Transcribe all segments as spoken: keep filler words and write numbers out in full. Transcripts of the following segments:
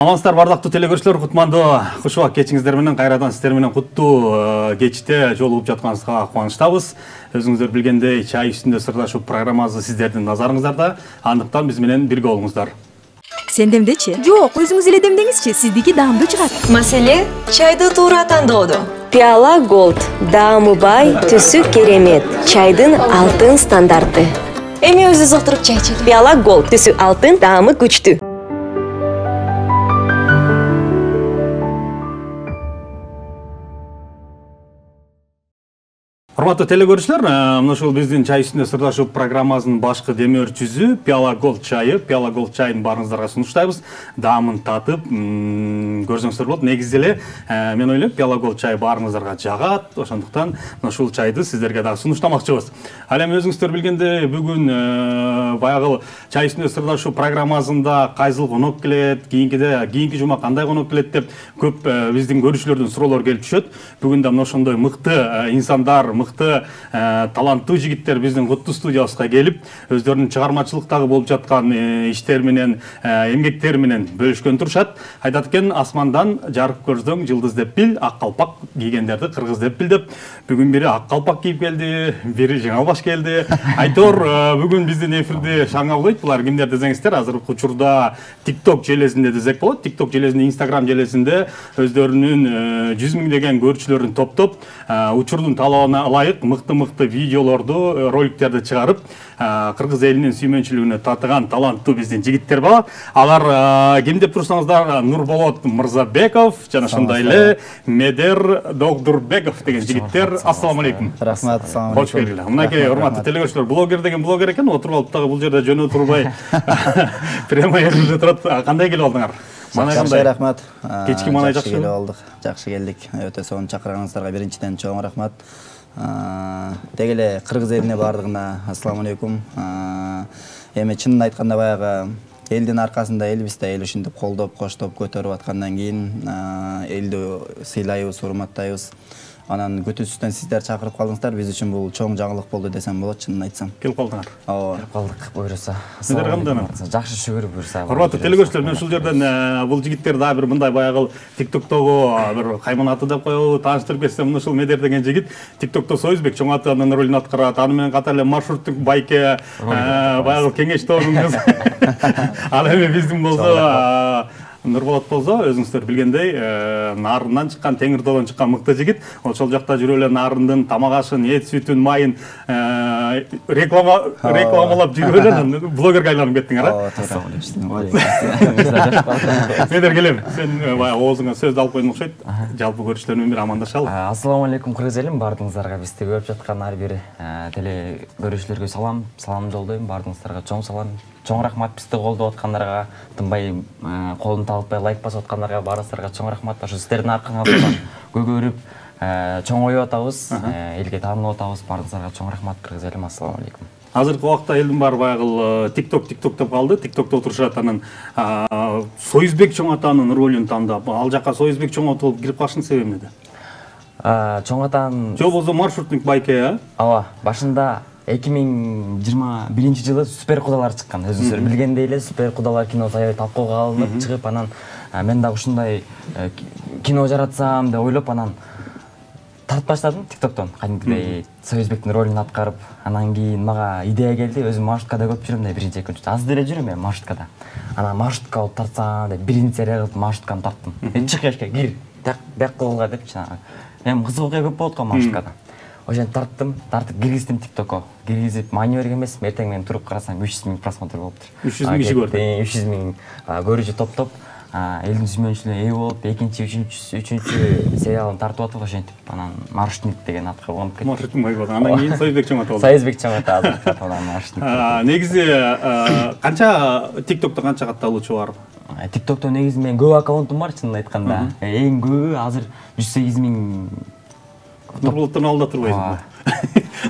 Саламатсыздар бардыктуу телекөрүүчүлөр, кутмандуу куш убак кечиңиздер менен кайрадан сиздер менен куттуу кечте жолугуп жатканыбызга кубанычтабыз. Өзүңүздөр билгендей, чай үстүндө сырдашуу программасы сиздердин назарыңыздарда. Андыктан биз менен бирге болуңуздар. Сен демдечи? Жок, өзүңүз эле демдеңизчи, сиздики даамдуу чыгат. Маселе чайды туура тандоодо. Пиала Gold даамы бай, түсү керемет. Чайдын алтын стандарты. Эми өзү зоктуруп чай ичели. Пиала Gold түсү алтын, даамы күчтүү. Урматтуу телекөрүүчүлөр, мына ушул биздин чай үстүндө сырдашуу программасынын башкы демөөрчүсү Пиала Gold чайы. Пиала Gold чайын баарыңыздарга сунуштайбыз. Даамын татып, көрсөңүздөр болот. Негизи эле мен ойлойм, Пиала Gold чайы баарыңыздарга жагат. Ошондуктан мына ушул чайды сиздерге дагы сунуштамакчыбыз. Ал эми өзүңүздөр билгендей, бүгүн баягы чай үстүндө сырдашуу программасында кайсыл конок келет, кийинкиде кийинки жума кандай конок келет деп көп биздин көрүүчүлөрдөн суроолор келип түшөт. Бүгүн да мына ошондой мыкты инсандар, мыкты таланттуу жигиттер биздин куттуу студиябызга келип, өздөрүнүн чыгармачылыктагы болуп жаткан иштер менен, эмгектери менен бөлүшкөн турушат. Айтат экен, асмандан жарык көрсөң жылдыз деп бил, ак калпак кийгендерди кыргыз деп бил деп. Бүгүн бири ак калпак кийип келди, бири жаңа баш келди. Айтор, бүгүн биздин эфирде шаңа улойт. Булар кимдер десеңиздер, азыркы учурда TikTok желесинде десек болот. TikTok желесинде, Instagram желесинде өздөрүнүн жүз миңдеген көрүүчүлөрүн топтоп, учурдун талабына ылайык мыкты-мыкты видеолорду, роликтерди чыгарып, кыргыз элинин сүймөнчүлүгүнө татыган таланттуу биздин жигиттер бар. Алар ким деп турсаңыздар, Нурболот Мырзабеков жана ошондой эле Медер Догдурбеков деген жигиттер. Ассаламу алейкум. Рахмат, ассаламу алейкум. Кош келдиңер. Мынакей урматтуу телекөрүүчүлөр, блогер деген блогер экен, отуруп алып дагы бул жерде жөнө турбай прямо эфирде турат. Кандай келип алдыңар? Мана кандай? Рахмат. Кечки манай жакшы келип алдык. Жакшы келдик. Өтө сонун чакырганыңыздарга биринчиден чоң рахмат. Деги эле кыргыз элине бардыгына ассаламу алейкум. Эми чынын айтканда баягы элдин аркасында элбиз да эл ушинтип колдоп, коштоп көтөрүп аткандан кийин элди сыйлайбыз, урматтайбыз. Анан күтүүсүздөн сиздер чакырып калдыңыздар. Биз үчүн бул чоң жаңылык болду десем болот, чынын айтсам. Келип калдыңар. Ооба. Келип калдык, буйруса. Сиздер кандай? Жакшы шүгүр буйруса. Урматтуу телекөрүүчүлөр, мен ушул жерден бул жигиттер дагы бир мындай баягы TikTok'тогу бир кайманаты деп коелу, тааныштырып кетсем, мына ушул Медер деген жигит TikTok'то Союзбек чоң атанын ролун аткарат. Аны менен катар эле маршруттук байке, баягы кеңеш тобунун кызы. Ал эми биздин болсо Нурболот болсо, өзүңүздөр билгендей, нарындан чыккан, Теңир тоодон чыккан мыкты жигит. Ошол жакта жүрүп эле нарындын тамак ашын, эт сүтүн, майын реклама рекламалап жүрүп эле блогерге айланып кеттиңер, а? Медер келем. Сен баягы оозуңа сөздү алып койдуң окшойт. Жалпы көрүүчүлөр менен бир амандашалы. Ассаламу алейкум кыргыз элим, бардыгыңыздарга бизди көрүп жаткан ар бир теле көрүүчүлөргө салам, салам жолдойм. Бардыгыңыздарга чоң салам. Чоң рахмат, бизди колдоп аткандарга, тынбай колун талытпай лайк басып аткандарга баарыңыздарга чоң рахмат. Ошо сиздердин аркаңызда көгөрүп, чоң оюп атабыз, элге таанылып атабыз. Баарыңыздарга чоң рахмат кыргыз элим, ассаламу алейкум. Азыркы убакта элдин баары баягы TikTok TikTok деп калды. TikTok'то отурушат, анан Союзбек чоң атанын ролун тандап, ал жака Союзбек чоң ата болуп кирип калыштын себеби эмнеде? Чоң атанын Жо болсо маршрутник байке, а? Ооба, башында эки миң жыйырма биринчи жылы Супер кудалар чыккан. Өзүңүздөр билгендей эле Супер кудалар киносу аябай талкууга алынып чыгып, анан мен дагы ушундай кино жаратсам деп ойлоп, анан тартып баштадым TikToктон. Кадимкидей Союзбектин ролун аткарып, анан кийин мага идея келди. Өзүм маршруткада көп жүрөм да, биринчи экинчи. Аз деле жүрөм мен маршруткада. Анан маршрутка алып тартсам деп биринчи серия кылып маршрутканы тарттым. Чык эшикке кир, бак кылга деп жанагы. Эми кызык окуя көп болот го маршруткада. Ошентип тарттым, тартып киргиздим TikTokко. Киргизип, мани берген эмес, эртең менен туруп карасам үч жүз миң просмотр болуптур. үч жүз миң киши көрдү. үч жүз миң көрүүчү топтоп, элдин сүймөнчүлүгүнө ээ болуп, экинчи, үчүнчү, үчүнчү сериалын тартып атып ошентип, анан Маршрутник деген атка колгонуп кетти. Маршрутник болду. Анан кийин Союзбек чоң ата болду. Союзбек чоң ата азыр аталган Маршрутник. Негизи канча TikTok'то канча катталуучу бар? TikTok'то негизи мен көп аккаунтум бар, чынын айтканда. Эң көбү азыр жүз сегиз миң. Нурболоттон алдыда турбайсыңбы?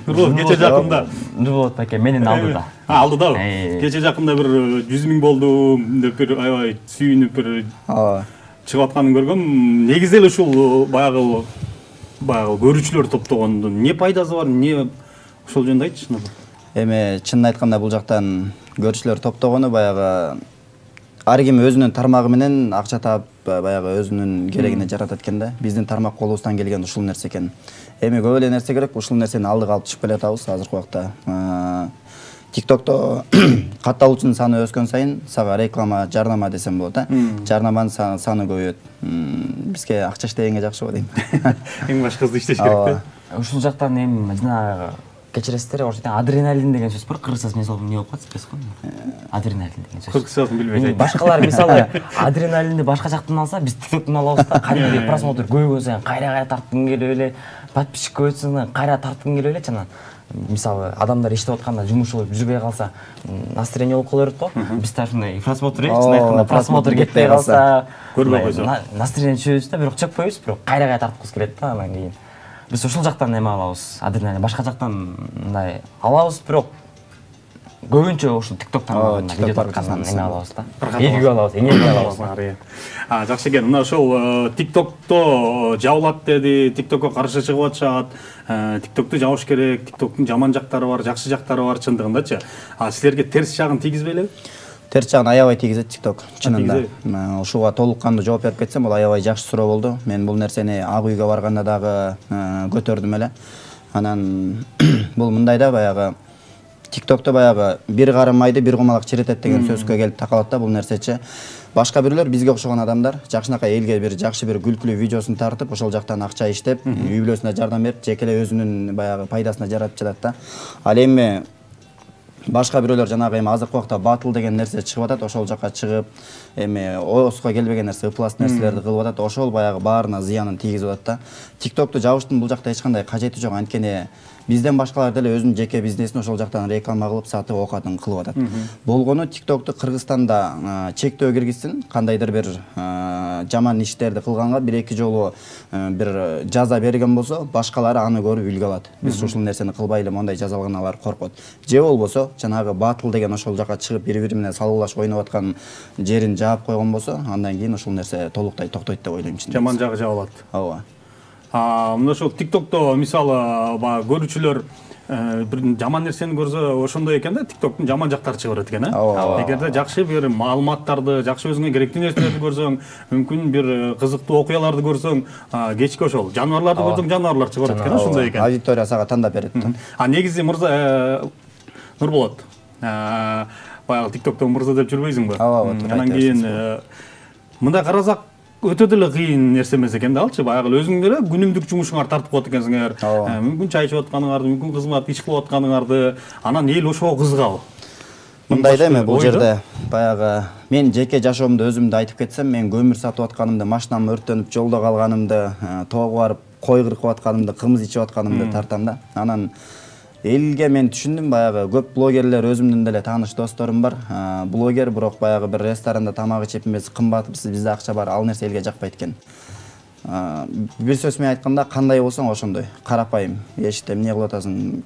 Нурболот кече жакында. Нурболот байке менен алдыда. Алдыдабы? Кече жакында бир жүз миң болду деп бир аябай сүйүнүп бир чыгып атканын көргөм. Негизи эле ушул баягы баягы көрүүчүлөр топтогондун эмне пайдасы бар, эмне ошол жөнүндө айтчы. Эми чынын айтканда бул жактан көрүүчүлөр топтогону баягы ар ким өзүнүн тармагы менен акча таап баягы өзүнүн керегине жаратат экен да. Биздин тармак колубуздан келген ушул нерсе экен. Эми көп эле нерсе керек, ушул нерсени алдыга алып чыгып келатабыз азыркы убакта. TikTok'то катталуучунун саны өскөн сайын сага реклама, жарнама десем болот, а? Жарнаманын саны көбөйөт. Бизге акча иштегенге жакшы го дейм. Эң башкысы иштеш керек да. Ушул жактан эми жанагы кечиресиздер, ошо адреналин деген сөз бар. Кыргызчасы мисалы эмне болуп калат эпес го? Адреналин деген сөз. Кыргызчасын билбей жатат. Башкалар мисалы адреналинди башка жактан алса, биз TikTok'тон алабыз да, кадимги просмотр көбөйгөн сайын кайра-кайра тарткың келип эле, подписчик көбөйсөң кайра тарткың келип эле жана мисалы адамдар иштеп атканда жумуш болуп жүрбөй калса, настроение болуп кала берет го. Биз да ушундай просмотр айтканда просмотр кетпей калса, көрбөй койсо, настроение түшөбүз да, бирок чыкпайбыз, бирок кайра-кайра тарткыбыз келет да, анан кийин. Биз ушул жактан эме алабыз, адреналин. Башка жактан мындай алабыз, бирок көбүнчө ушул TikTok-тан видео тарткандан эме алабыз да. Элгүү алабыз, энергия алабыз. А, жакшы экен. Мына ошол TikTok-то жабылат деди, TikTok-ко каршы чыгып атышат. TikTok-ту жабыш керек, TikTok-тун жаман жактары бар, жакшы жактары бар чындыгындачы. А силерге терс жагын тийгизбейли? Терс жагын аябай тийгизет TikTok, чынында. Ушуга толук кандуу жооп берип кетсем, бул аябай жакшы суроо болду. Мен бул нерсени Ак үйгө барганда дагы көтөрдүм эле. Анан бул мындай да, баягы TikTok'то баягы бир карым майды бир кумалак чиретет деген сөзгө келип такалат да бул нерсечи. Башка бирөөлөр бизге окшогон адамдар жакшынакай элге бир жакшы бир күлкүлүү видеосун тартып, ошол жактан акча иштеп, үй бүлөсүнө жардам берип, жеке эле өзүнүн баягы пайдасына жаратып жатат да. Ал эми башка бирөөлөр жанагы эми азыркы убакта батыл деген нерсе чыгып атат, ошол жакка чыгып, эми ооско келбеген нерсе, ыплас нерселерди кылып атат, ошол баягы баарына зыянын тийгизип атат да. TikTok'ту жабыштын бул жакта эч кандай кажети жок, анткени бизден башкалар деле өзүнүн жеке бизнесин ошол жактан реклама кылып, сатып, оокатын кылып атат. Болгону TikTok'ту Кыргызстанда чектөө киргизсин, кандайдыр бир жаман иштерди кылганга бир эки жолу бир жаза берген болсо, башкалары аны көрүп үлгү алат. Биз ушул нерсени кылбайлы, мондай жаза алгандар коркот. Же болбосо, жанагы батыл деген ошол жакка чыгып бири-бири менен салгылашып ойноп аткан жерин жаап койгон болсо, андан кийин ушул нерсе толуктай токтойт деп ойлойм. Жаман жагы жабылат. Ооба. Мына ошол TikTok'то мисалы баягы көрүүчүлөр бир жаман нерсени көрсө ошондой экен да, TikTok'тун жаман жактары чыга берет экен, а? Эгерде жакшы бир маалыматтарды, жакшы өзүңө керектүү нерселерди көрсөң, мүмкүн бир кызыктуу окуяларды көрсөң, кечки ошол жаныбарларды көрсөң, жаныбарлар чыга берет экен, ошондой экен. Аудитория сага тандап берет. А негизи мырза Нурболот, баягы TikTok'то мырза деп жүрбөйсүңбү? Ооба, анан кийин мындай карасак өтө деле кыйын нерсе эмес экен да алчы. Баягы өзүң деле күнүмдүк жумушуңарды тартып коет экенсиңер. Мүмкүн чай ичип атканыңарды, мүмкүн кызмат иш кылып атканыңарды, анан эл ошого кызыгабы? Мындай да эми бул жерде баягы мен жеке жашоомду өзүмдү айтып кетсем, мен көмүр сатып атканымды, машинам өрттөнүп жолдо калганымды, тоого барып кой кыркып атканымды, кымыз ичип атканымды тартам да. Анан элге мен түшүндүм, баягы көп блогерлер, өзүмдүн деле тааныш досторум бар. Блогер, бирок баягы бир ресторанда тамак ичип эмес, кымбатсыз, бизде акча бар, ал нерсе элге жакпайт экен. Бир сөз менен айтканда, кандай болсоң ошондой, карапайым. Эшикте эмне кылып атасың?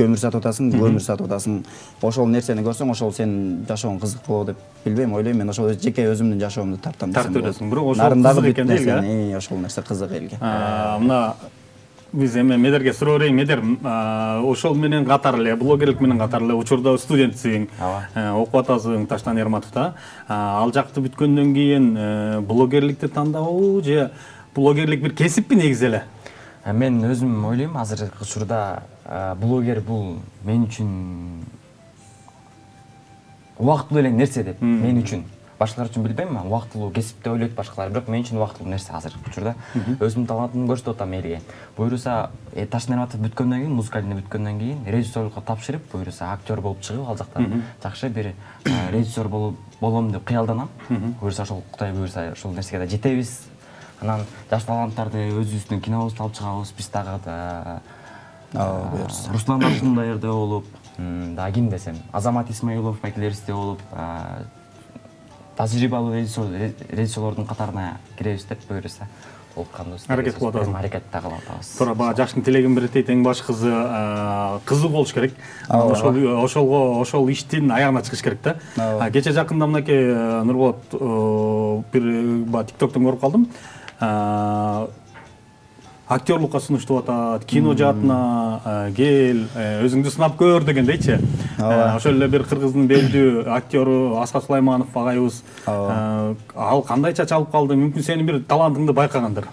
Көмүр сатып атасың, көмүр сатып атасың. Ошол нерсени көрсөң, ошол сенин жашооң кызыктуу деп билбейм, ойлойм. Мен ошол жеке өзүмдүн жашоомду тартам десем болот. Тартып бирок ошол кызык экен элге. Ошол нерсе кызык элге. Мына биз эми Медерге суроо берейин. Медер, ошол менен катар эле, блогерлик менен катар эле учурда студентсиң, окуп атасың Таштан Эрматовда. Ал жакты бүткөндөн кийин блогерликти тандабы же блогерлик бир кесиппи негизи эле? Мен өзүм ойлойм, азыркы учурда блогер бул мен үчүн убактылуу эле нерсе деп, мен үчүн. Башкалар үчүн билбейм, убактылуу кесип деп ойлойт башкалар, бирок мен үчүн убактылуу нерсе азыркы учурда. Өзүмдүн талантымды көрсөтүп атам элге. Буюрса, Таштан Эрматов бүткөндөн кийин, музыкальный бүткөндөн кийин режиссерлукка тапшырып, буюрса актер болуп чыгып, ал жакта жакшы бир режиссер болуп болом деп кыялданам. Буюрса ошол Кудай буюрса ошол нерсеге да жетебиз. Анан жаш таланттарды өзүбүздүн кинобузду алып чыгабыз, биз дагы Руслан Арсундаерде болуп, да ким десем, Азамат Исмаилов, Майклеристе болуп, тажрыйбалуу режиссерлордун катарына киребиз деп буюрса, болканбыз. Аракет кылып атабыз. Аракет да кылып атабыз. Туура, баа жаштын тилегин биретейт, эң башкысы кызык болуш керек. Ошол ошолго ошол иштин аягына чыгыш керек да. Кече жакында мынакей Нурболот бир TikTok'тон көрүп калдым. актерлукка сунуштуп атат, кино жаатына кел, өзүңдү сынап көр дегендейчи. Ошол эле бир кыргыздын белдүү актёру Асқат Сулайманов агайыбыз ал кандайча чалып калды? Мүмкүн сенин бир талантыңды байкагандыр.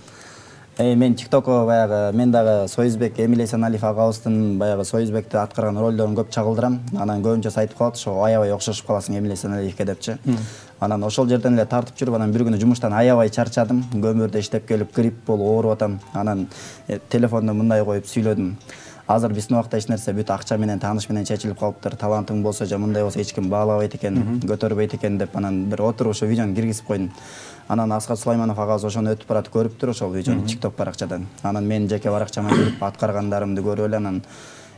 Эй, мен ТикТокко баягы мен дагы Союзбек Эмиль Эсеналиев агабыздын баягы Союзбекти аткарган ролдорун көп чагылдырам. Анан көбүнчөсү айтып калат, ошо аябай окшошуп каласың Эмиль Эсеналиевке депчи. Анан ошол жерден эле тартып жүрүп, анан бир күнү жумуштан аябай чарчадым. Көмүрдө иштеп келип грипп болуп ооруп атам. Анан телефонду мындай коюп сүйлөдүм. Азыр биздин убакта эч нерсе бүт акча менен, тааныш менен чечилип калыптыр. Талантың болсо же мындай болсо эч ким баалабайт экен, көтөрбөйт экен деп анан бир отуруп ошо видеону киргизип койдум. Анан Асқат Сулайманов агабыз ошону өтүп баратып көрүптүр ошол видеону TikTok баракчадан. Анан мен жеке баракчама кирип аткаргандарымды көрүп эле анан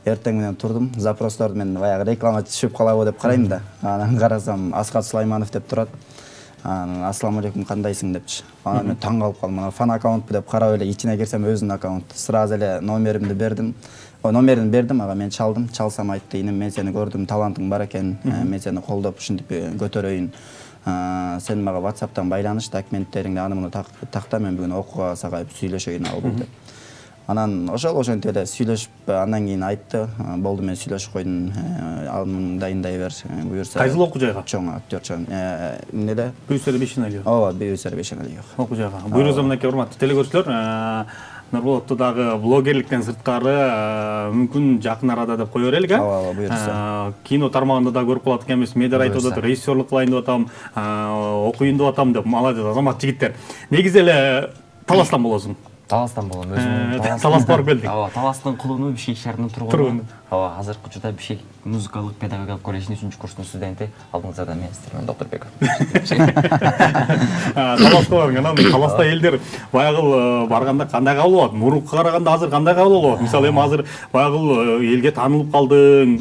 эртең менен турдум. Запростор мен баягы реклама түшүп калабы деп карайм да. Анан карасам Асқат Сулайманов деп турат. Анан ассаламу алейкум, кандайсың депчи. Анан мен таң калып калдым. Анан фан аккаунтпу деп карап эле ичине кирсем өзүнүн аккаунту. Сразу эле номеримди бердим. О, номерин бердим, ага мен чалдым. Чалсам айтты, инем мен сени көрдүм, талантың бар экен. Мен сени колдоп ушинтип көтөрөйүн. Сен мага WhatsApp'тан байланыш, документтериңди аны муну такта, мен бүгүн окууга сага сүйлөшөйүн алып деп. Анан ошол ошентип эле сүйлөшүп, андан кийин айтты, болду мен сүйлөшүп койдум, ал дайындай бер, буюрса. Кайсыл окуу жайга? Чоң актер, чоң. Эмнеде? Бүйүсөр Бешеналиев. Ооба, Бүйүсөр Бешеналиев. Окуу жайга. Буйруза мынакей урматтуу телекөрүүчүлөр, Нурболотту дагы блогерликтен сырткары мүмкүн жакын арада деп кое берелик, э? Ооба, ооба, буйрса. Кино тармагында да көрүп калат экенбиз. Медер айтып атат, режиссерлук кылайын деп атам, окуйун деп атам деп. Молодец, азамат жигиттер. Негизи эле Таластан болосуң. Таластан болом, өзүм. Таласка барып келдик. Ооба, Таластын кулуну Бишкек шаарынын тургуну. Ооба, азыркы учурда Бишкек музыкалык педагогикалык колледжинин үчүнчү курсунун студенти. Алдыңызда мен сиздермен Доктурбеков. Таласка барың, анан Таласта элдер баягы барганда кандай кабыл алат? Мурункуга караганда азыр кандай кабыл алат? Мисалы эми азыр баягы элге таанылып калдың,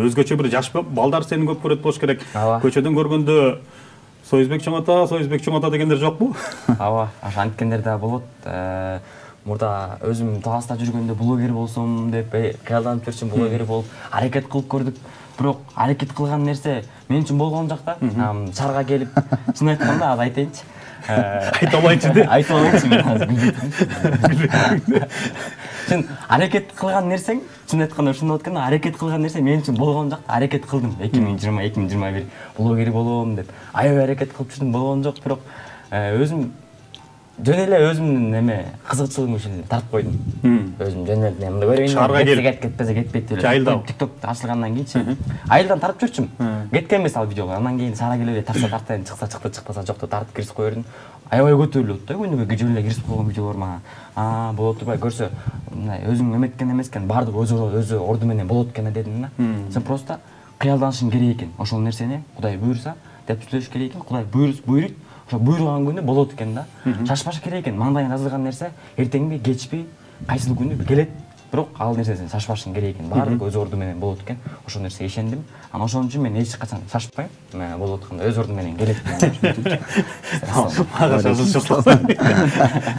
өзгөчө бир жаш балдар сени көп көрөт болуш керек. Көчөдөн көргөндө Союзбек чоң ата, Союзбек чоң ата дегендер жокпу? Ооба, ошонткендер да болот. Мурда өзүм Таласта жүргөндө блогер болсом деп кыялданып жүрчүм, блогер болуп аракет кылып көрдүк. Бирок аракет кылган нерсе мен үчүн болгон жок да. Шаарга келип, чын айтканда, азыр айтайынчы. Айта алайынчы деп. Айта алайынчы мен азыр күлүп. Чын аракет кылган нерсең, чын айтканда ушундай болот экен, аракет кылган нерсе мен үчүн болгон жок. Аракет кылдым эки миң жыйырма эки миң жыйырма бир блогер болом деп. Аябай аракет кылып жүрдүм, болгон жок, бирок өзүм жөн эле өзүмдүн эме кызыкчылыгым үчүн тартып койдум. Өзүм жөн эле мындай көрөйүн. Шаарга келип кетпесе кетпейт эле. TikTok ачылгандан кийинчи айылдан тартып жүрчүм. Кеткен эмес ал видеого. Андан кийин шаарга келип тарса тартайын, чыкса чыкты, чыкпаса жокто тартып киргизип кое бердим. Аябай көтөрүлөт да, күнүгө жөн эле киргизип койгон видеолор мага. Аа, болот турбай көрсө, мындай өзүң эметкен эмескен, баардык өзү өзү орду менен болот экен дедим да. Сен просто кыялданышың керек экен. Ошол нерсени Кудай буйрса деп сүйлөш керек экен. Кудай буйруйт. Ошо буйруган күнү болот экен да. Шашпаш керек экен. Мандайын жазылган нерсе эртеңби, кечпи, кайсыл күнү келет. Бирок ал нерсесин шашпашың керек экен. Баардык өз орду менен болот экен. Ошол нерсеге ишендим. Анан ошон үчүн мен эч качан шашпайм. Мен болот атканда өз орду менен келет экен. Ага, шашылчу.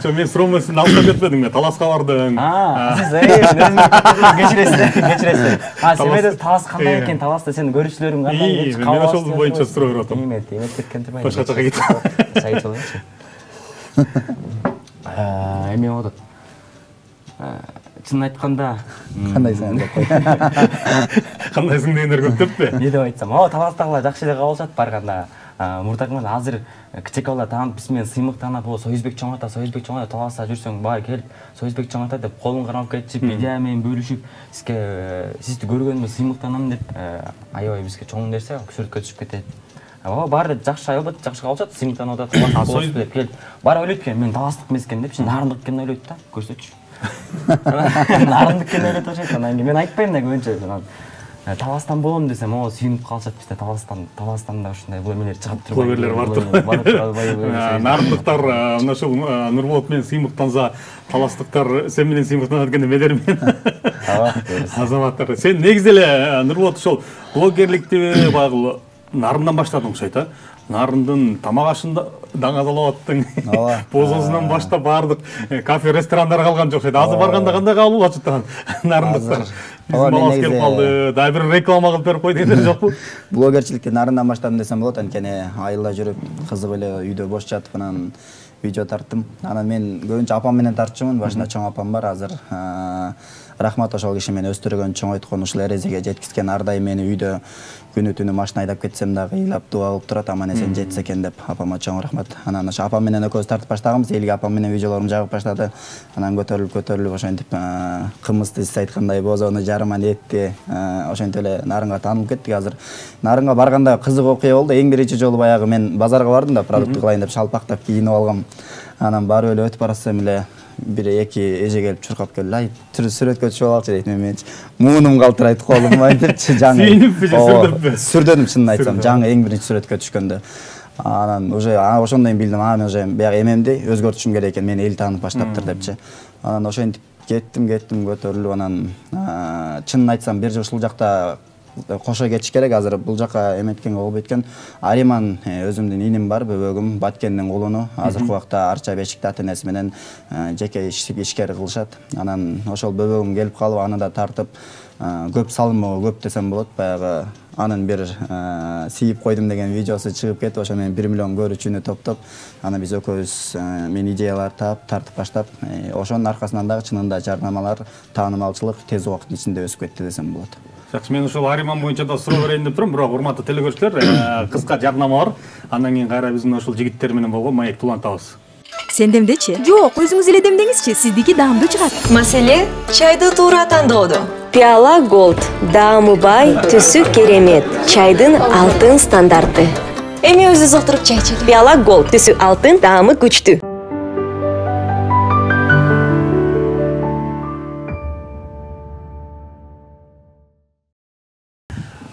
Жо мен суроомун алып кетпедиң мен, Таласка бардың. Аа, сиз өзүңүз кечиресиз, кечиресиз. А, сен Талас кандай экен? Таласта сенин көрүүчүлөрүң кандай деп чыккан. Мен ошол боюнча суроо берип атам. Эмет, эмет кеткен турбайбы? Башка жака кетип. Чай ичип алайынчы. Аа, эме болот. Чын айтканда, кандайсың деп кой. Кандайсың дегендер көп деппи? Не деп айтсам, о, Таластагылар жакшы эле кабыл алышат барганда. Мурдагы азыр кичек балдар таанып, биз менен сыймык таанып, о, Союзбек чоң ата, Союзбек чоң ата, Таласта жүрсөң, бай келип, Союзбек чоң ата деп колун кармап кетишип, идея менен бөлүшүп, сизге сизди көргөнүмө сыймыктанам деп, аябай бизге чоң нерсе сүрөткө түшүп кетет. Ооба, баары жакшы албат, жакшы кабыл алышат, сыймыктанып атат, Таласта болсун деп келип. Баары ойлойт экен, мен Таластык эмес экен деп, нарындык экенин ойлойт да, көрсөчү. Нарындык экенин ойлоп атышат, анан кийин мен айтпайм да көбүнчө. Таластан болом десем, о, сүйүнүп калышат бизде Таластан, Таластанда ушундай бул эмелер чыгып турбайбы? Блогерлер бар турбайбы? Нарындыктар мына ушул Нурболот менен сыймыктанса, Таластыктар сен менен сыймыктанат экен деп элермин. Ооба, азаматтар. Сен негизи эле Нурболот ошол блогерликти баягы нарындан баштадың окшойт, а? Нарындын тамак ашында даңазалап аттың. Бозозунан баштап баардык кафе, ресторандар калган жок окшойт. Азыр барганда кандай кабыл алып атышат нарындыктар? Биздин балабыз келип калды, дагы бир реклама кылып берип койду дегендер жокпу? Блогерчиликти нарындан баштадым десем болот, анткени айылда жүрүп, кызыгып эле үйдө бош жатып, анан видео тарттым. Анан мен көбүнчө апам менен тартчумун. Башында чоң апам бар, азыр рахмат ошол киши мени өстүргөн, чоңойткон, ушул эрежеге жеткизген. Ар дайым мени үйдө күнү түнү машина айдап кетсем дагы ыйлап дуа кылып турат, аман эсен жетсе экен деп. Апама чоң рахмат. Анан ошо апам менен экөөбүз тартып баштаганбыз. Элге апам менен видеолорум жагып баштады. Анан көтөрүлүп көтөрүлүп ошентип кымызды сиз айткандай бозону жарыман этти ошентип эле Нарынга таанылып кеттик. Азыр Нарынга барганда кызык окуя болду. Эң биринчи жолу баягы мен базарга бардым да, продукт кылайын деп шалпактап кийинип алгам. Анан барып эле өтүп баратсам эле бир эки эже келип чуркап келди. Ай, сүрөткө түшүп алчы дейт. Мен муунум калтырайт, колум айтыпчы, жаңы. Сүйүнүппү же сүрдөппү? Сүрдөнүм, чынын айтсам, жаңы эң биринчи сүрөткө түшкөндө. Анан уже ошондон билдим, а мен уже баягы эмемди өзгөртүшүм керек экен, мени эл таанып баштаптыр депчи. Анан ошентип кеттим, кеттим, көтөрүлүп, анан чынын айтсам бир ушул жакта кошо кетиш керек. Азыр бул жака эметкенге болбойт экен. Ариман өзүмдүн иним бар, бөбөгүм, Баткендин улуну. Азыркы убакта Арча Бешикте ата-энеси менен жеке ишкер кылышат. Анан ошол бөбөгүм келип калып, аны да тартып, көп салымы көп десем болот. Баягы анын бир сийип койдум деген видеосу чыгып кетип, ошо менен бир миллион көрүүчүнү топтоп, аны биз экөөбүз мен идеялар таап, тартып баштап, ошонун аркасынан дагы чынында жарнамалар, таанымалчылык тез убакыттын ичинде өсүп кетти десем болот. Жакшы, мен ушул Ариман боюнча да суроо берейин деп турам, бирок урматтуу телекөрүүчүлөр, кыска жарнама бар. Андан кийин кайра биздин ушул жигиттер менен болгон маекти улантабыз. Сендемдечи? Жок, өзүңүз эле демдеңизчи, сиздики даамдуу чыгат. Маселе чайды туура тандоодо. Пиала Голд, даамы бай, түсү керемет, чайдын алтын стандарты. Эми өзүбүз отуруп чай ичели. Пиала Голд, түсү алтын, даамы күчтүү.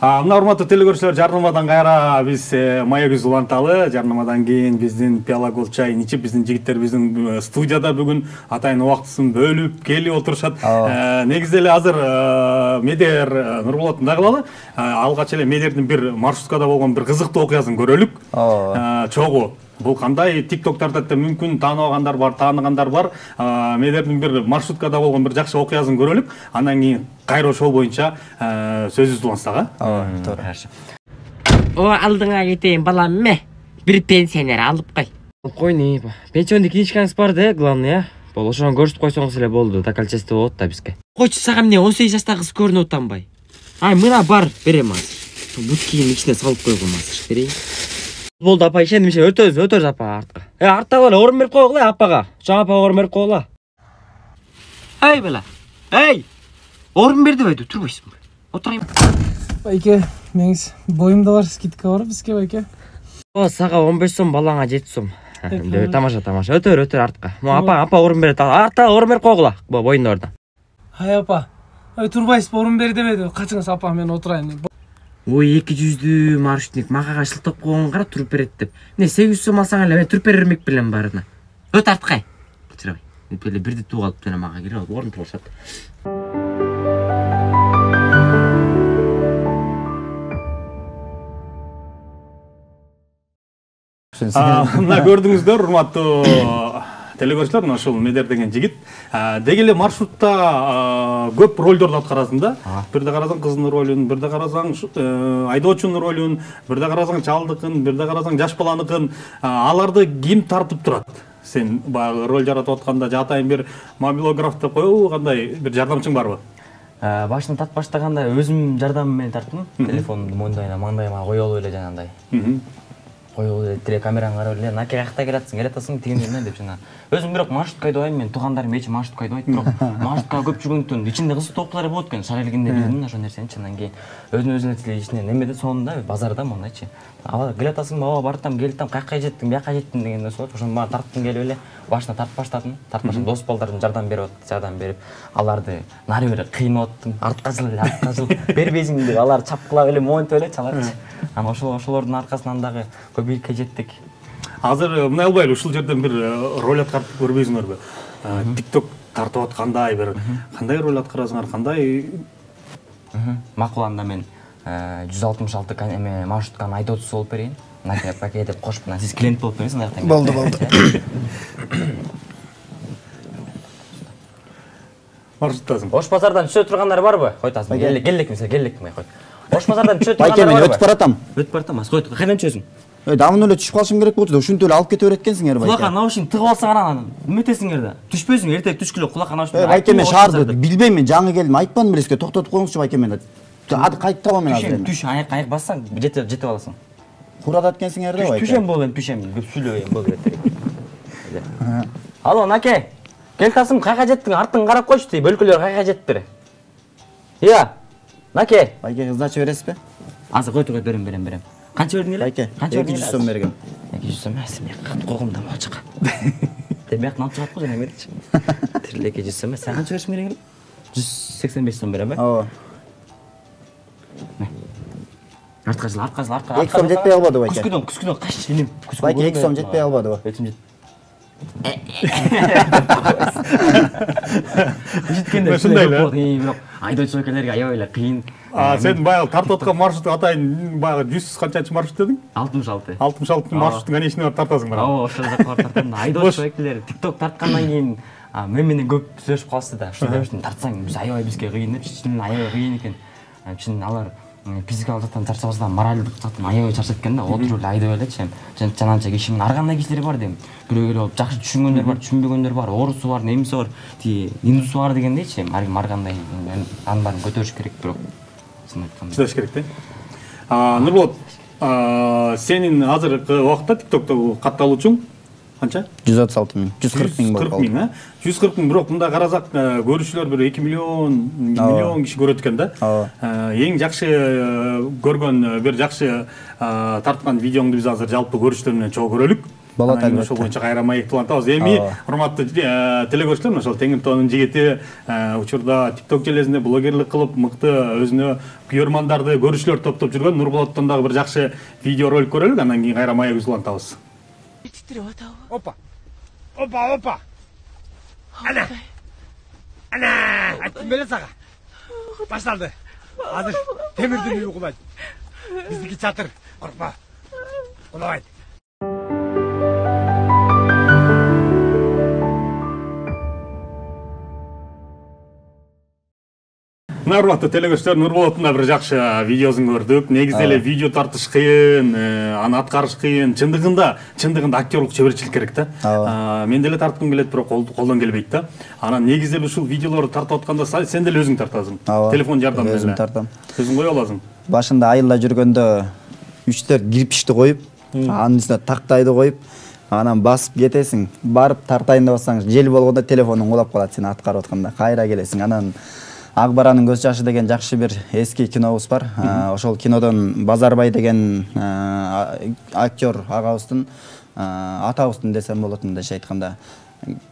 Мына урматтуу телекөрүүчүлөр, жарнамадан кайра биз маегибизди уланталы. Жарнамадан кийин биздин Пиала Голд чайын ичип, биздин жигиттер биздин студияда бүгүн атайын убактысын бөлүп келип отурушат. Негизи эле азыр Медер Нурболоттун да кылалы. Алгач эле Медердин бир маршруткада болгон бир кызыктуу окуясын көрөлүк. Чогуу. Бул кандай тиктоктарда да мүмкүн тааныбагандар бар, тааныгандар бар. Медердин бир маршруткада болгон бир жакшы окуясын көрөлүк. Андан кийин кайра ошол боюнча сөзүбүздү улантсак, а? Ооба, туура. О, алдыңа кетейин, балам, ме. Бир пенсионер алып кой. Койни, пенсионный книжкаңыз бар да, главный, а? Бул ошону көрсөтүп койсоңуз эле болду, докольчество болот да бизге. Койчу, сага эмне он сегиз жаштагы кыз көрүнүп атанбай? Ай, мына бар, берем азыр. Буткинин ичине салып койгом азыр, берейин. Болду, апа, ишенимче өтөбүз, өтөбүз апа артка. Э, артта эле орун берип койгула апага. Чоң апага орун берип койгула. Эй, бала. Эй! Орун берди бейди, турбайсыңбы? Отурайын. Байке, меңиз боюмда бар, скидка бар бизге, байке. О, сага он беш сом, балаңа жети сом. Тамаша, тамаша. Өтөр, өтөр артка. Апа, апа орун берет. Артта орун берип койгула. Боюнда ордо. Ай, апа. Ай, турбайсызбы, орун бер дебеди. Качыңыз, апа, мен отурайын. Ой, эки жүздүү маршрутник макага шылтап койгон кара туруп берет деп. Эмне сегиз жүз сом алсаң эле мен туруп берермек белем баарына. Өт арткай. Чырабай. Мен эле бирди тууп алып жана мага кирип алып орун болушат. Мына көрдүңүздөр, урматтуу телекөрүүчүлөр, мына ушул Медер деген жигит деги эле маршрутта көп ролдорду аткарасың да. Бирде карасаң кыздын ролун, бирде карасаң айдоочунун ролун, бирде карасаң чалдыкын, бирде карасаң жаш баланыкын. Аларды ким тартып турат? Сен баягы роль жаратып атканда жатайын бир мобилограф деп коебу, кандай бир жардамчың барбы? Башынан тартып баштаганда өзүм жардамым менен тарттым. Телефонумду мойнуна, маңдайыма коюп алып эле жанагындай. Коюп эле телекамераны карап эле, "Наке каякта келатсың, келатасың" дегендей деп жана. Өзүм бирок маршрутка айдабайм, мен туугандарым эч маршрутка айдабайт, бирок маршрутка көп жүргөндүктөн ичинде кызыктуу окуялар болот экен. Шаар элгенде билдим ошол нерсени. Андан кийин өзүн өзүнө ичинен немеде сонунда базарда мондайчы. Ала келатасың, ооба бартам, келдим, каяка жеттиң, бияка жеттиң деген нерсе болот. Ошону баары тарттым келип эле. Башына тартып баштадым. Тартып баштадым, дос балдардын жардам берип атты, жардам берип, аларды нары бери кыйнап аттым. Артка жыл, артка жыл. Бербейсиң деп алар чапкылап эле монтип эле чаларчы. Анан ошол ошолордун аркасынан дагы көбүйүккө жеттик. Азыр мындай албайлы, ушул жерден бир роль аткарып көрбөйсүңөрбү? Тикток тартып аткандай бир кандай роль аткарасыңар, кандай? Макул, анда мен жүз алтымыш алты эме маршрутканын айдоочусу болуп берейин. Наке паке деп кошуп, мына сиз клиент болуп бересиз, андактан. Болду, болду. Маршруттасың. Ош базардан түшө тургандар барбы? Койтасың. Келек, келек мисалы, келек мей кой. Ош базардан түшө тургандар барбы? Байке, мен өтүп баратам. Өтүп баратам, кой. Кайдан түшөсүң? Э, давно эле түшүп калышым керек болчу да, ушинтип эле алып кете берет экенсиңер байке. Кулакка наушник тыгып алсаң анан эметесиңер да. Түшпөйсүң, эртең түшкүлө кулакка наушник. Э, байке мен шаарды билбейм, мен жаңы келдим, айтпадым белесизге, токтотуп коюңузчу байке мени. Ады кайтып табам мен азыр. Түш, аяк аяк бассаң жетип жетип аласың. Курадат экенсиңер да байке. Түшем болом, түшем, көп сүйлөйм бол керек. Алло, Наке. Кел тасым, кайга жеттиң? Артың карап койчу, тип өлкөлөр кайга жеттир? Ия. Наке. Байке сдача бересизби? Азыр койду, койду, берем, берем, берем. Канча бердиң эле? Байке, эки жүз сом бергем. эки жүз сом эмес, мен кат койгом да болчук. Демек алып чыгат го жана беричи. Тириле эки жүз сом эмес, сен канча беришиң керек эле? жүз сексен беш сом берем, э? Ооба. Артка жыл, артка жыл, артка. эки сом жетпей калбады байке. Күскүдөн, күскүдөн кач иним. Байке эки сом жетпей калбадыбы? Өтүм жет. Жеткенде ушундай эле. Бирок айдоочу экелерге аябай эле кыйын. А сен баягы тартып аткан маршрут атайын баягы жүз канчанчы маршрут дедиң? алтымыш алты. алтымыш алты маршруттун конечныйына барып тартасың бара. Ооба, ошол жака барып тартам. Айдоочу экелер TikTok тарткандан кийин мен менен көп сүйлөшүп калышты да. Ушул дебештин тартсаң биз аябай бизге кыйын деп, чын аябай кыйын экен. Чын алар физикалык жактан чарчабастан моралдык жактан аябай чарчап экен да. Отуруп эле айдап элечи. Жананча кишинин ар кандай кишилери бар дейм. Бирөө келип жакшы түшүнгөндөр бар, түшүнбөгөндөр бар, орусу бар, немиси бар, ти индусу бар дегендейчи. Ар ким ар кандай анын баарын көтөрүш керек, бирок чын айтканда чыдаш керек да. А Нурболот, сенин азыркы убакытта TikTok'тогу катталуучуң канча? жүз отуз алты миң, жүз кырк миң болуп калды. жүз кырк миң, а? жүз кырк миң, бирок мында карасак, көрүүчүлөр бир эки миллион, миллион киши көрөт экен да. Эң жакшы көргөн, бир жакшы тарткан видеоңду биз азыр жалпы көрүүчүлөр менен чогуу көрөлүк. Болот албетте. Ошол боюнча кайра маекти улантабыз. Эми урматтуу телекөрүүчүлөр, ошол Теңиртоонун жигити учурда TikTok железинде блогерлик кылып, мыкты өзүнө күйөрмандарды, көрүүчүлөр топтоп жүргөн Нурболоттон дагы бир жакшы видео ролик көрөлүк, андан кийин кайра маегибизди улантабыз. Опа! Опа, опа! Ана! Ана! Айттым беле сага. Башталды. Азыр темирдин үйү кулайт. Биздики чатыр. Коркпа. Кулабайт. Урматтуу телекөрүүчүлөр, Нурболоттун да бир жакшы видеосун көрдүк. Негизи эле видео тартыш кыйын, аны аткарыш кыйын. Чындыгында, чындыгында актерлук чеберчилик керек да. Мен деле тарткым келет, бирок колдон келбейт да. Анан негизи эле ушул видеолорду тартып атканда сен деле өзүң тартасың. Телефон жардамы менен. Өзүм тартам. Өзүң кое аласың. Башында айылда жүргөндө үч төрт кирпичти коюп, анын үстүнө тактайды коюп, анан басып кетесиң. Барып тартайын деп атсаң, жел болгондо телефонуң кулап калат сен аткарып атканда. Кайра келесиң. Анан Ак баранын көз жашы деген жакшы бир эски кинобуз бар. Ошол кинодон Базарбай деген актер агабыздын, атабыздын десем болот мындайча айтканда.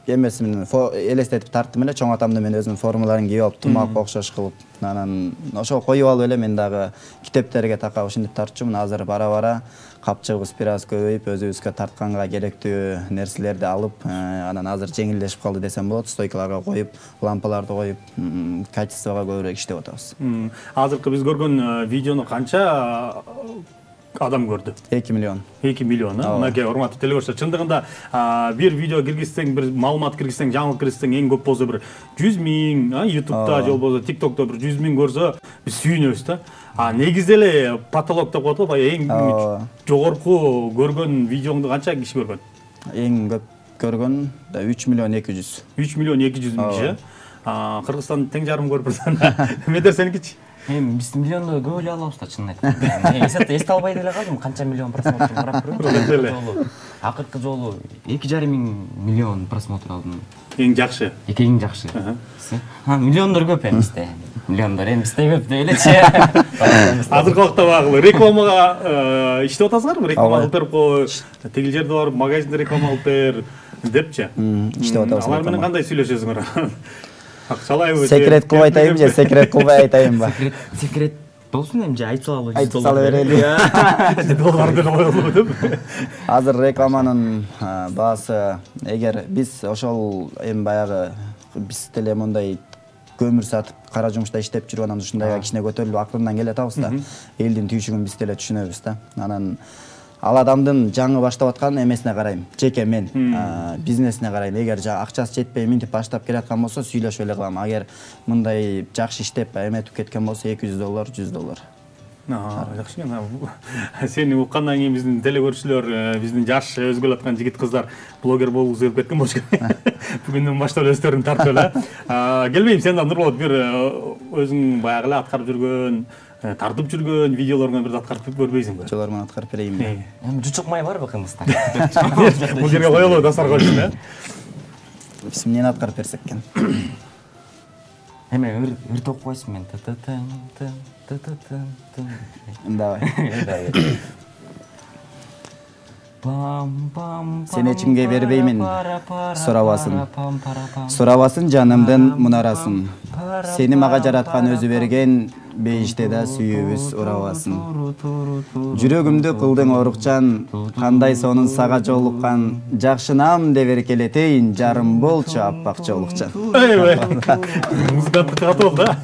Эмеси менен элестетип тарттым эле, чоң атамды мен өзүнүн формаларын кийип алып, тумакка окшош кылып, анан ошол коюп алып эле мен дагы китептерге такап ушинтип тартчумун. Азыр бара-бара капчыгыбыз бир аз көбөйүп, өзүбүзгө тартканга керектүү нерселерди алып, анан азыр жеңилдешип калды десем болот. Стойкаларга коюп, лампаларды коюп, качествого көбүрөөк иштеп атабыз. Азыркы биз көргөн видеону канча адам көрдү? эки миллион. эки миллион, мынакей урматтуу телекөрүүчүлөр, чындыгында бир видео киргизсең, бир маалымат киргизсең, жаңылык киргизсең, эң көп болсо бир жүз миң, YouTube'да же болбосо TikTok'то бир жүз миң көрсө, биз сүйүнөбүз да. А негизи эле потолок деп коет го, эң жогорку көргөн видеоңду канча киши көргөн? Эң көп көргөн да үч миллион эки жүз. үч миллион эки жүз миң киши. Кыргызстандын тең жарым көрүп атат. Медер сеникичи? Эми биз миллионду көп эле алабыз да, чын айтканда. Эсепте эсте албай деле калдым, канча миллион просмотр карап көрөм. Акыркы жолу эки жарым миң миллион просмотр алдым. Эң жакшы. Эки эң жакшы. Ha, миллиондор көп эместе. Миллиондор эместе көп деп элечи. Азыркы убакта багы рекламага иштеп атасыңарбы? Реклама кылып берип кой, тигил жерде барып магазинде реклама кылып бер депчи. Иштеп атабыз. Алар менен кандай сүйлөшөсүңөр? Акчалайбы? Секрет кылбай айтайынбы же секрет кылбай айтайынбы? Секрет, секрет болсун эми же айтып салалы. Айтып сала берели. Доллар деп коелу деп. Азыр рекламанын баасы, эгер биз ошол эми баягы биз деле мындай көмүр сатып, кара жумушта иштеп жүрүп анан ушундайга кичине көтөрүлүп акырындан келе атабыз да. Элдин түйшүгүн биз деле түшүнөбүз да. Анан ал адамдын жаңы баштап аткан эмесине карайм. Жеке мен бизнесине карайм. Эгер акчасы жетпей минтип баштап келаткан болсо сүйлөшүп эле калам. Агер мындай жакшы иштеп эметип кеткен болсо эки жүз доллар, жүз доллар. Жакшы экен. Сени уккандан кийин биздин телекөрүүчүлөр, биздин жаш өзгөлө аткан жигит кыздар блогер болгусу келип кеткен болчу. Бүгүндөн баштап өздөрүн тартып эле. Келбейм, сен да Нурболот бир өзүң баягы эле аткарып жүргөн, тартып жүргөн видеолорго бир аткарып көрбөйсүңбү? Видеолорун аткарып берейинби? Эми жучук май барбы кымызда? Бул жерге коелу дастарга үчүн, э? Эмнени аткарып берсек экен? Эме ыр топ койсун мен. Давай. Сен эчимге бербеймин сурабасын. Сурабасын жанымдын мунарасын. Сени мага жараткан өзү берген, бейиште да сүйүүбүз урабасын. Жүрөгүмдү кылдың орукчан, кандай сонун сага жолуккан, жакшынам деп эркелетейин, жарым болчу аппак жолукчан. Эй, музыканттык катып болду, да?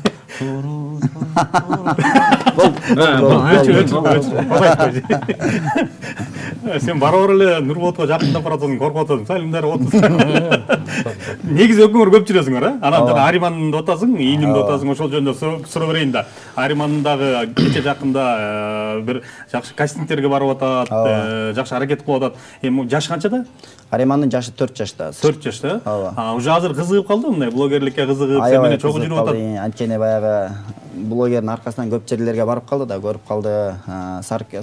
Сен барабар эле Нурболотко жакындап баратсың, коркуп атасың, салимдар отурсуң. Негизи экөөңөр көп жүрөсүңөр, э? Анан жана Ариманды атасың, ийнимди атасың, ошол жөнүндө суроо берейин да. Аримандын дагы кече жакында бир жакшы кастингтерге барып атат, жакшы аракет кылып атат. Эми жашы канчада? Аримандын жашы төрт жашта. төрт жашта? Ооба. Уже азыр кызыгып калды мындай блогерликке кызыгып, сен менен чогуу жүрүп атат. Анткени баягы блогердин аркасынан көп жерлерге барып калды да, көрүп калды.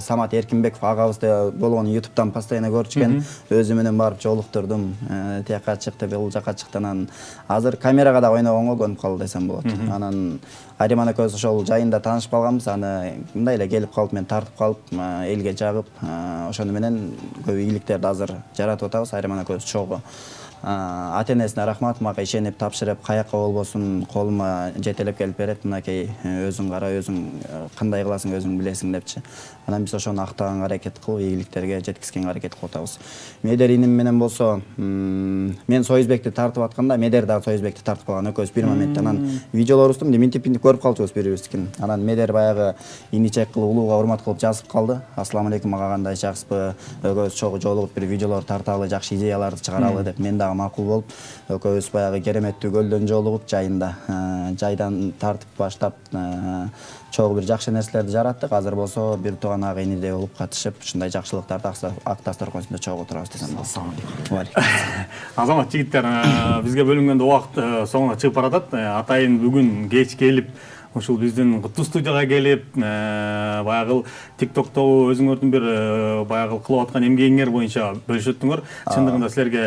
Самат Эркинбеков агабызды болгон ютубтан постоянно көрчүкен, өзү менен барып жолуктурдум. Тияка чыкты, бул жака чыкты. Анан азыр камерага да ойногонго көнүп калды десем болот. Анан Ариман экөөбүз ошол жайында таанышып калганбыз. Аны мындай эле келип калып, мен тартып калып, элге жагып, ошону менен көп ийгиликтерди азыр жаратып атабыз. Ариман экөөбүз чогуу. Ата-энесине рахмат, мага ишенип тапшырып, каяка болбосун колума жетелеп келип берет. Мынакей өзүң кара, өзүң кандай кыласың, өзүң билесиң депчи. Анан биз ошону актаганга аракет кылып, ийгиликтерге жеткизгенге аракет кылып атабыз. Медер иним менен болсо, мен Союзбекти тартып атканда, Медер дагы Союзбекти тартып калган экөөбүз бир моментте. Анан видеолорубузду минтип-минтип көрүп калчубуз бири-бирибиздикин. Анан Медер баягы иничек кылып, улууга урмат кылып жазып калды. Ассаламу алейкум, мага кандай жакшысызбы? Экөөбүз чогуу жолугуп бир видеолор тарталы, жакшы идеяларды чыгаралы деп мен дагы макул болуп, экөөбүз баягы кереметтүү көлдөн жолугуп, жайында жайдан тартып баштап чогуу бир жакшы нерселерди жараттык. Азыр болсо бир тууган ага инидей болуп катышып, ушундай жакшылыктарды ак дасторконунда чогуу турабыз десем болот. Ассаламу алейкум. Азамат жигиттер, бизге бөлүнгөн убакыт соңуна чыгып баратат. Атайын бүгүн кеч келип, ушул биздин куттуу студияга келип, баягы тиктокто өзүңөрдүн бир баягы кылып аткан эмгегиңер боюнча бөлүшүп өттүңөр. Чындыгында силерге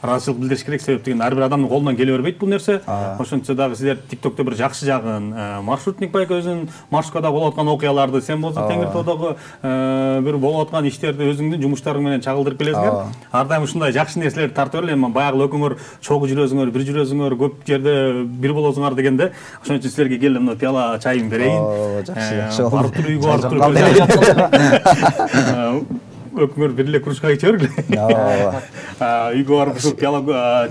ыраазычылык билдириш керек, себеп деген ар бир адамдын колунан келе бербейт бул нерсе. Ошончо дагы силер тиктокто бир жакшы жагын, маршрутник байка өзүнүн маршруткада болуп аткан окуяларды, сен болсо Теңир тоодогу бир болуп аткан иштерди өзүңдүн жумуштарың менен чагылдырып келесиңер. Ар дайым ушундай жакшы нерселерди тартып бер. Эми баягы экөөңөр чогуу жүрөсүңөр, бир жүрөсүңөр, көп жерде бир болосуңар дегенде, ошон үчүн силерге келдим, мына пияла чайын берейин. Жакшы, жакшы. Барып туруп үйгө барып туруп өкмөр бир эле кружка иче бергиле. Ооба. Үйгө барып ушу пияла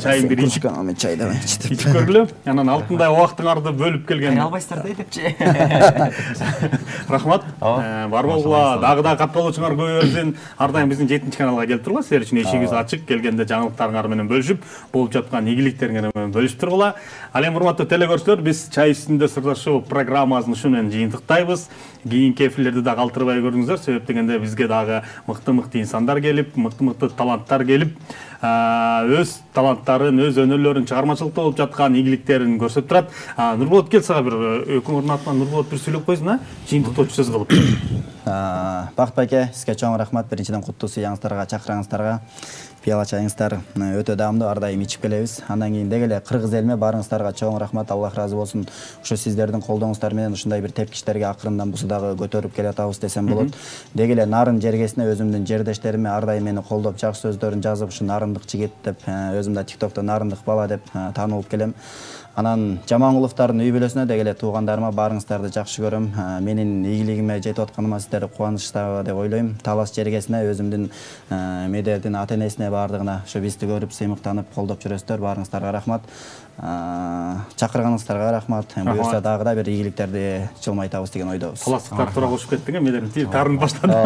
чайын бир ичип, мен чай да ичип ичип көргүлө. Анан алтындай убактыңарды бөлүп келген. Албайсыздар да депчи. Рахмат. Бар болгула, дагы да катталуучуңар көп берсин. Ар дайым биздин жетинчи каналга келип тургула. Силер үчүн эшигибиз ачык. Келгенде жаңылыктарыңар менен бөлүшүп, болуп жаткан ийгиликтериңер менен бөлүшүп тургула. Ал эми урматтуу телекөрүүчүлөр, биз чай үстүндө сырлашуу программасын ушу менен жыйынтыктайбыз. Кийинки эфирлерди да калтырбай көрүңүздөр, себеп дегенде бизге дагы мыкты-мыкты инсандар келип, мыкты-мыкты таланттар келип, өз таланттарын, өз өнөрлөрүн, чыгармачылыкта болуп жаткан ийгиликтерин көрсөтүп турат. Нурболот, кел сага бир өкмөрдүн атынан Нурболот бир сүйлөп койсун, а? Жыйынтыктоочу сөз кылып. Бакыт байке, сизге чоң рахмат. Биринчиден куттуу сыяңыздарга, чакыраңыздарга. Пияла чайыңыздар өтө даамдуу, ар дайым ичип келебиз. Андан кийин деги эле кыргыз элиме барыңыздарга чоң рахмат, Аллах ыраазы болсун. Ушу сиздердин колдооңуздар менен ушундай бир тепкичтерге акырындан бусу дагы көтөрүп келатабыз десем болот. Деги эле Нарын жергесине өзүмдүн жердештериме ар дайым мени колдоп, жакшы сөздөрүн жазып, ушу Нарындык жигит деп, өзүм да тиктокто Нарындык бала деп таанылып келем. Анан Жамангуловдордун үй бүлөсүнө деги эле туугандарыма барыңыздарды жакшы көрөм. Менин ийгилигиме жетип атканыма сиздер кубанычтабы деп ойлойм. Талас жергесине өзүмдүн Медердин ата-энесине бардыгына ушу бизди көрүп, сыймыктанып, колдоп жүрөсүздөр. Барыңыздарга рахмат. Чакырганыңыздарга рахмат. Буюрса дагы да бир ийгиликтерди жылмайтабыз деген ойдобуз. Таластыктар туура кошуп кеттиң, Медердин тарын баштады.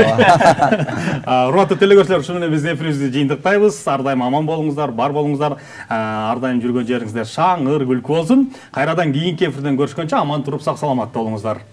Урматтуу телекөрүүчүлөр, ушу менен биздин эфирибизди жыйынтыктайбыз. Ар дайым аман болуңуздар, бар болуңуздар. Ар дайым жүргөн жериңизде шаң, ыр, күлкү болсун. Кайрадан кийинки эфирден көрүшкөнчө аман туруп сак саламатта болуңуздар.